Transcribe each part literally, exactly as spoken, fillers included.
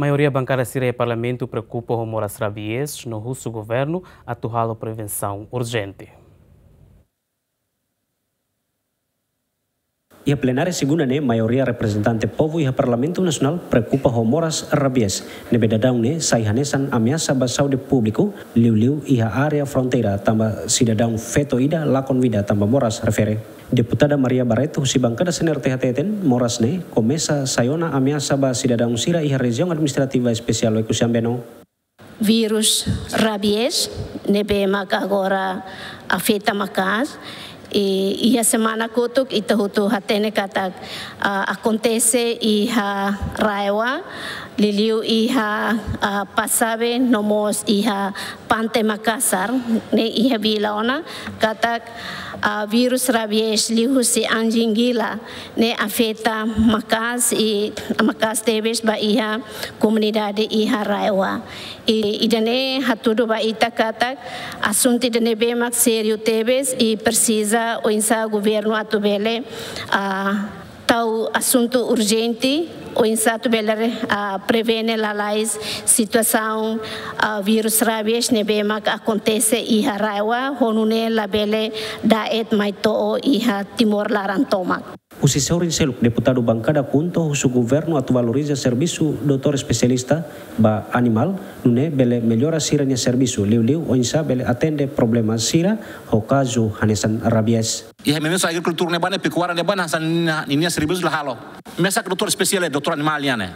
Maioria bankada sira iha Parlamentu preokupa ho moras rabies no husu governu atu halo prevensaun urjente. Iha plenária segunda ne'e, maioria reprezentante povu iha Parlamentu Nasionál preokupa ho moras rabies, ne'ebé daudaun ne'e sai hanesan ameasa ba saúde públiku, liuliu iha área fronteira, tanba sidadaun feto ida lakon vida tanba moras refere. Deputada Maria Barreto husi bankada CNRT hateten, moras ne'e komesa sai ona ameasa ba sidadaun sira iha Rejiaun Administrativa Espesiál Oekusi Ambeno. Virus rabies ne'ebé mak agora afeta maka'as. I iha semana kotuk ita hotu hatene katak, ah, akontese iha RAEOA, liuliu iha, ah, Passabe no mós iha Pante Makasar, ne'e iha vila ona, katak, ah, virus rabies liuhusi anjing gila ne'e afeta maka'as i maka'as tebes ba iha komunidade iha RAEOA. I ida-ne'e hatudu ba ita katak asuntu ida ne'ebé mak sériu tebes i presiza oinsá governu atu bele, ah, tau asuntu urjente, oinsá atu bele, ah, prevene lalais situasaun, ah, virus rabies ne'ebé mak akontese iha RAEOA, ho nune'e labele da'et mai to'o iha Timor laran tomak. Husi sorin seluk, deputadu bankada KHUNTO husu governu atu valoriza servisu doutór espesialista ba animál, nune'e bele mellora sira-nia servisu, liuliu oinsá bele atende problema sira ho kazu hanesan rabies. Iha ministériu agrikultura ne'ebá ne'e, pekuária ne'ebá ne'e, hanesan ninia, ninia servisu la halo. Mesak doutór espesiál, doutór animál nian ne'e.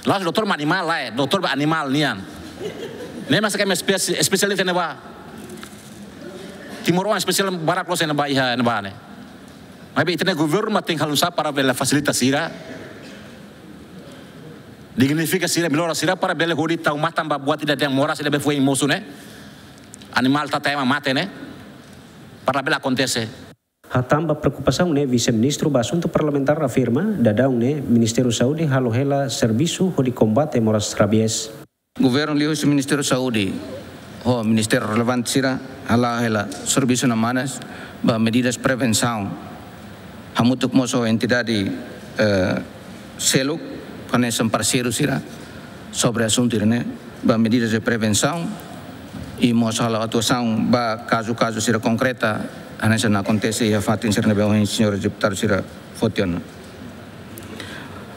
La'ós doutór animál lae, doutór ba animál nian. Ne'e mesak ema espesi-, espesialista ne'ebá. Timoroan espesiál barak loos ne'ebá iha ne'ebá ne'e. Maibé ita-nia governu mak tenke halo oinsá para bele fasilita sira, dignifika sira, mellora sira para bele hodi tau matan ba buat ida dehan moras ida be foin mosu ne'e. Animál tata ema mate ne'e. Para bele akontese. Hatán ba preokupasaun ne'e, Vise-Ministru ba Asuntu Parlamentár afirma, daudaun ne'e Ministériu Saúde halo hela servisu hodi kombate moras rabies. Governu liuhusi Ministériu Saúde ho ministériu relevante sira hala'o hela servisu namanas ba medidas prevensaun. Hamutuk mós ho entidade, eh, seluk, hanesan parseiru sira, sobre asuntu ida-ne'e, ba medidas de prevensaun, i mós halo atuasaun ba kazu-kazu sira konkreta, hanesan akontese iha fatin sira ne'ebé ohin señór deputadu sira foti ona.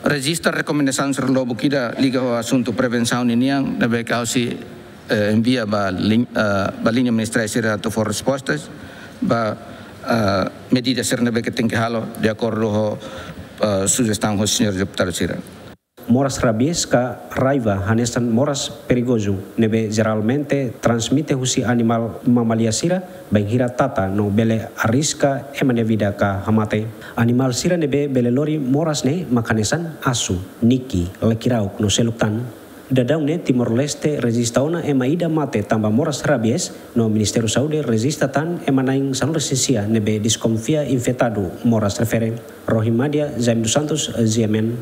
Rejista rekomendasaun sira lubuk ida liga ho asuntu prevensaun ninian, ne'ebé ke ha'u sei, eh, envia ba lin-, eh, ba liña ministeriál sira atu fó respostas ba, eh, medida sira ne'ebé ke tenke halo de akordu ho, eh, sujestaun ho señór deputadu sira. Moras rabies ka raiva hanesan moras perigozu, ne'ebé jeralmente transmite husi animál mamália sira, bainhira tata no bele arriska ema nia vida ka hamate. Animál sira ne'ebé bele lori moras ne'e mak hanesan asu, niki, lekirauk no seluk tan. Daudaun ne'e Timor-Leste rejista ona ema ida mate tanba moras rabies, no Ministériu Saúde rejista tan ema na'in sanulu-resin-sia ne'ebé deskonfia infetadu moras refere. Rohi Madia, Jaime dos Santos, G M N.